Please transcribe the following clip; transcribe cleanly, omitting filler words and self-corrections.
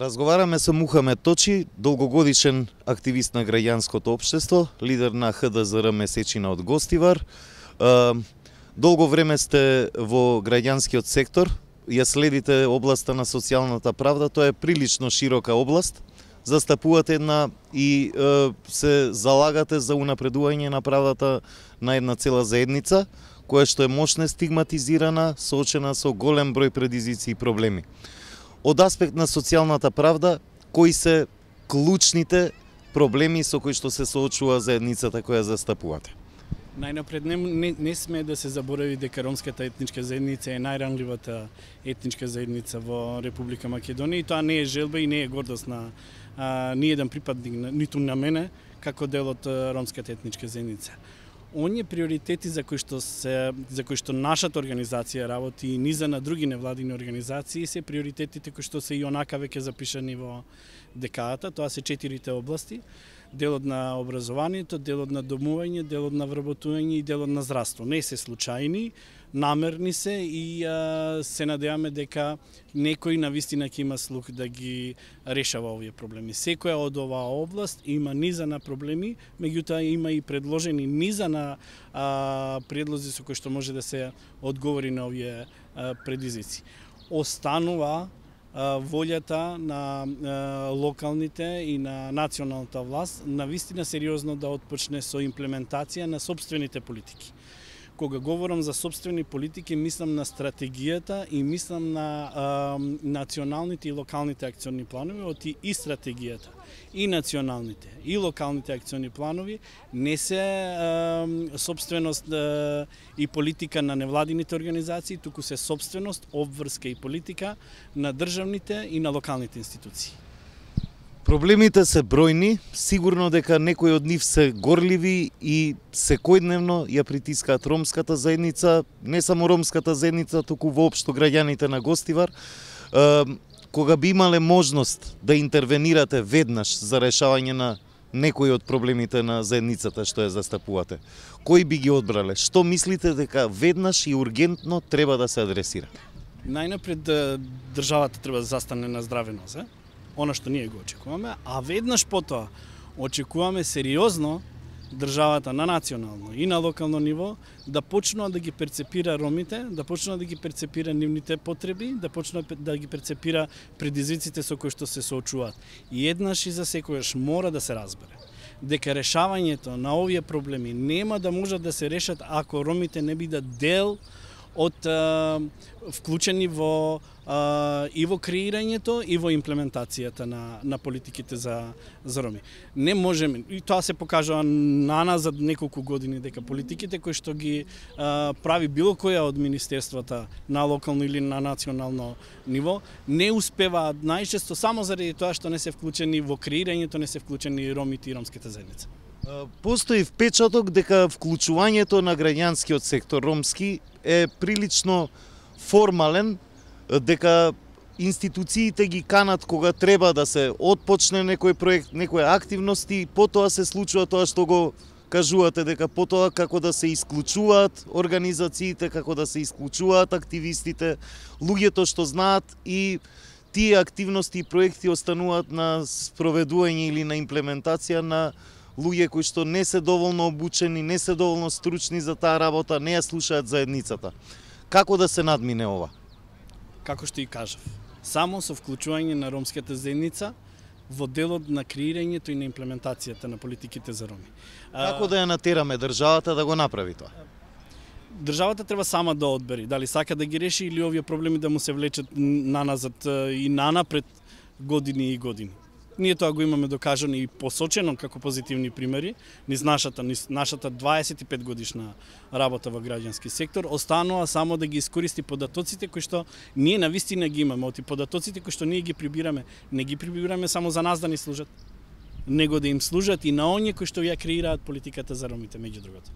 Разговараме со Мухамед Точи, долгогодишен активист на граѓанското општество, лидер на ХДЗР Месечина од Гостивар. Долго време сте во граѓанскиот сектор, ја следите областа на социјалната правда, тоа е прилично широка област. Застапувате една и се залагате за унапредување на правдата на една цела заедница, која што е мощно стигматизирана, соочена со голем број предизвици и проблеми. Од аспект на социјалната правда, кои се клучните проблеми со кои што се соочува заедницата која застапувате? Најнапред не сме да се заборави дека ромската етничка заедница е најранливата етничка заедница во Република Македонија и тоа не е желба и не е гордост на ниеден припадник, ниту на мене, како дел од ромската етничка заедница. Оние приоритети за кои што нашата организација работи и низа на други невладини организации се приоритетите кои што се и онака веќе запишани во декадата, тоа се 4 области: делот на образованието, делот на домување, делот на вработување и делот на здравство. Не се случајни, намерни се и се надеваме дека некој навистина ќе има слух да ги решава овие проблеми. Секоја од оваа област има низа на проблеми, меѓутоа има и предложени низа на предлози со кои што може да се одговори на овие предизвици. Останува волјата на локалните и на националната власт навистина сериозно да отпочне со имплементација на сопствените политики. Кога говорам за сопствени политики, мислам на стратегијата и мислам на националните и локалните акциони планови, оти и стратегијата, и националните, и локалните акциони планови не се сопственост и политика на невладините организации, туку се сопственост, обврска и политика на државните и на локалните институции. Проблемите се бројни, сигурно дека некои од нив се горливи и секојдневно ја притискаат ромската заедница, не само ромската заедница, туку воопшто граѓаните на Гостивар. Кога би имале можност да интервенирате веднаш за решавање на некои од проблемите на заедницата што ја застапувате, кои би ги одбрале? Што мислите дека веднаш и ургентно треба да се адресира? Најнапред државата треба да застане на здраве нозе, она што ние го очекуваме, а веднаш потоа очекуваме сериозно државата на национално и на локално ниво да почнува да ги перцепира ромите, да почнува да ги перцепира нивните потреби, да почнува да ги перцепира предизвиците со кои што се соочуваат. И еднаш и за секојаш мора да се разбере дека решавањето на овие проблеми нема да можат да се решат ако ромите не бидат дел од вклучени во и во креирањето и во имплементацијата на политиките за роми. Не можеме, и тоа се покажува наназад неколку години, дека политиките кои што ги прави било која од министерствата на локално или на национално ниво не успеваат најчесто само заради тоа што не се вклучени во креирањето, не се вклучени ромите и ромската заедница. Постои впечаток дека вклучувањето на граѓанскиот сектор ромски е прилично формален, дека институциите ги канат кога треба да се отпочне некој проект, некои активности, потоа се случува тоа што го кажувате, дека потоа како да се исклучуваат организациите, како да се исклучуваат активистите, луѓето што знаат, и тие активности и проекти остануваат на спроведување или на имплементација на луѓе кои што не се доволно обучени, не се доволно стручни за таа работа, не ја слушаат заедницата. Како да се надмине ова? Како што и кажав, само со вклучување на ромската заедница во делот на креирањето и на имплементацијата на политиките за роми. Како да ја натераме државата да го направи тоа? Државата треба сама да одбери дали сака да ги реши или овие проблеми да му се влечат наназад и нанапред години и години. Ние тоа го имаме докажано и посочено како позитивни примери низ нашата 25 годишна работа во граѓански сектор. Останува само да ги искористи податоците кои што ние навистина ги имаме. Оти податоците кои што ние ги прибираме, не ги прибираме само за нас да ни служат, него да им служат и на оние кои што ја креираат политиката за ромите, меѓу другото.